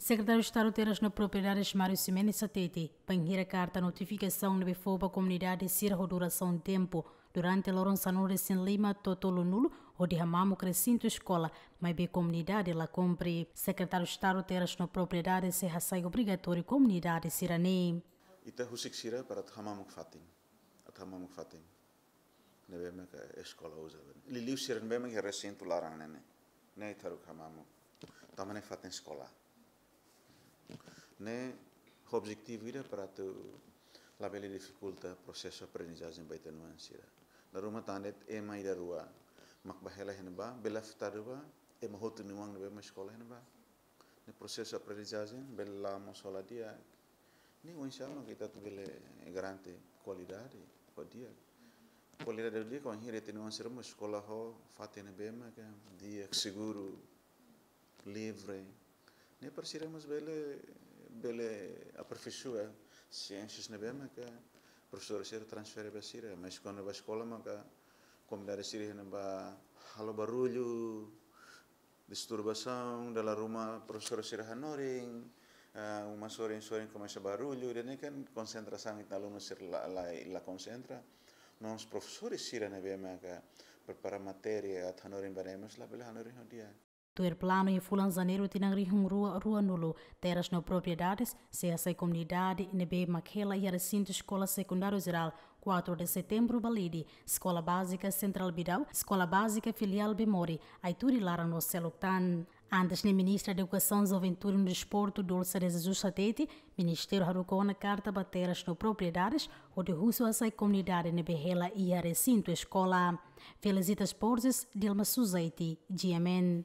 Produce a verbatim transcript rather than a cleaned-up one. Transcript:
Sekretáriu Estadu Terras no Propriedades Mário Ximenes hatete, bainhira karta notifikasaun ne'ebé fó ba komunidade sira ho durasaun tempu durante loron sanulu-resin-lima to'o tolunulu hodi hamamuk resintu eskola, maibé komunidade la kumpre. Sekretáriu Estadu Terras no Propriedades sei hasai obrigatóriu komunidade sira-ne'e. Ita husik sira para atu hamamuk fatin, atu hamamuk fatin ne'ebé maka eskola uza. Liuliu sira ne'ebé maka resintu laran ne'e, ne'e ita haruka hamamuk. Tanba ne'e fatin eskola. Ne'e objetivu ida para atu labele difikulta prosesu aprendizajen ba ita-nia oan sira. Dala ruma tan de'it ema ida rua mak bá hela iha ne'ebá, bele afetadu ba ema hotu nia oan ne'ebé mak eskola iha ne'ebá. Ne'e prosesu aprendizajen bele la mós hola di'ak. Ne'e oinsá mak ita atu bele garante kualidade ho di'ak. Kualidade ho di'ak bainhira ita-nia oan sira mós eskola ho fatin ne'ebé maka di'ak, seguru, livre. Ne'e para sira mós bele, bele aperfeiçoa siénsias ne'ebé maka profesór sira transfere ba sira, mas kuandu bá eskola maka komunidade sira iha ne'ebá halo barullu, disturbasaun, dala ruma profesór sira hanorin, ah, uma sorin-sorin komesa barullu, ida-ne'e kan konsentrasaun ita alunu sira la, la, la konsentra. No mós profesór sira ne'ebé maka prepara matéria atu hanorin ba ne'e mós labele hanorin ho di'ak. Tuir planu iha fulan Janeiru tinan rihun rua ruanulu, Terras no Propriedades sei hasai komunidade ne'ebé mak hela iha resintu Eskola Sekundáriu Jerál Quatro de Setembro Balide, Eskola Bázika Sentrál Bidau, Eskola Bázika Filiál Bemori, Aituri Laran no seluk tan. Antes ne'e, Ministra Edukasaun, Juventude no Desportu, Dulce de Jesus hatete, Ministériu haruka ona karta ba Terras no Propriedades hodi husu hasai komunidade ne'ebé hela iha resintu eskola. Felicitas Borges, Dilma Suzaiti, G M N.